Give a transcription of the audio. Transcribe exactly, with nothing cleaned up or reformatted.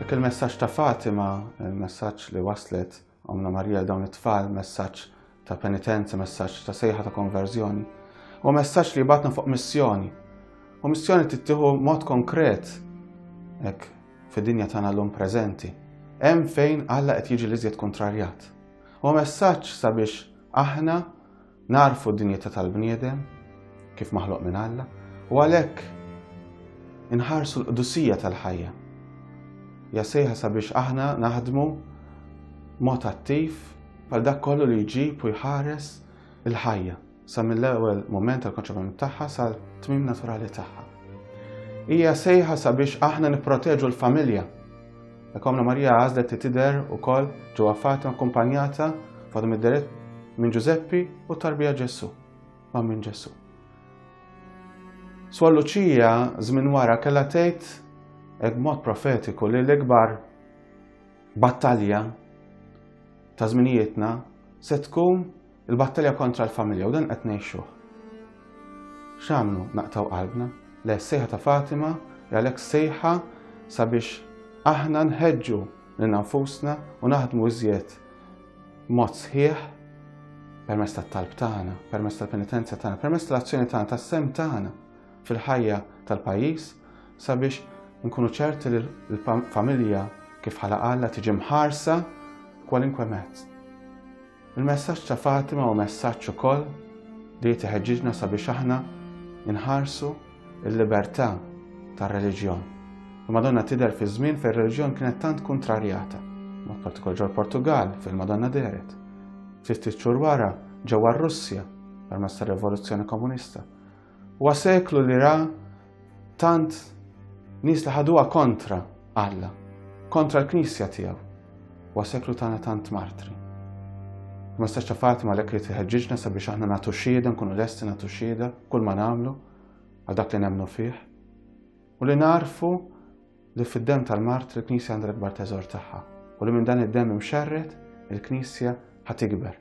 Hekk il-messaġġ ta' Fatima, il-messaġġ li waslet Ommna Marija dawn it-tfal, messaġġ ta' penitenza, messaġġ ta' sejħa ta' konverżjoni, u messaġġ li jibgħatna fuq missjoni. U missjoni tittieħu mod konkret hekk fid-dinja tagħna llum preżenti. Hemm fejn Alla qed jiġi l-iżjed kontrarjat. U messaġġ sabiex aħna narfu d-dinjità tal-bniedem kif maħluq minn Alla u għalhekk inħarsu l-qdusija tal-ħajja. Hija sejħa sabiex aħna naħdmu mod attiv għal dak kollu li jġib u jħares il-ħajja sa mill-ewwel moment tal-konċepiment tagħha sal-tmiem naturali tagħha. Hija sejħa sabiex aħna nipproteġu l-familja. Ommna Marija għażlet li tidher ukoll ġewwa Fatima akkumpanjata f'għadhom id-deret minn Ġużeppi u tarbija Ġesù, ma' minn Ġesù. Suor Luċija żmien wara kellha tgħid hekk b'mod profetiku li l-ikbar battalja ta' żminijietna se tkun il-battalja kontra l-familja u dan qed ngħixuh. X'għamlu naqtaw qalbna? Le, sejħa ta' Fatima għalhekk sejħa sabiex aħna nħeġġu lil nfusna u naħdmu iżjed mod sħiħ permezz tat-talb tagħna, permezz tal-penitenza tagħna, permezz tal-azzjoni tagħna, tas-sehem tagħna fil-ħajja tal-pajjiż sabiex nkunu ċerti li l-familja kif ħalaq Alla tiġi mħarsa kwalinkwe mezz. Il-messaġġ ta' Fatima u messaġġ ukoll li jitħeġġiġna sabiex aħna nħarsu il-libertà tar-reliġjon. Il-Madonna tidher fi żmien fejn ir-reliġjon kienet tant kontrarjata, mod partikolari ġol Portugal fejn il-Madonna dehret. Ftit xhur wara ġewwa r-Russja permezz tar-Rivoluzzjoni Komunista. Huwa seklu li ra tant nies li ħaduha kontra Alla, kontra l-Knisja tiegħu. Huwa seklu tagħna tant martri. Il-messaġġ ta' Fatima għalhekk li tħeġġiġna sabiex aħna nagħtu xhieda, nkunu lesti nagħtu xhieda kull ma nagħmlu għal dak li nemmnu fih. U li narfu li fid-demm tal-martri l-Knisja għandha l-ikbar teżor tagħha u li minn dan id-demm imxerred il-Knisja ħa tikber.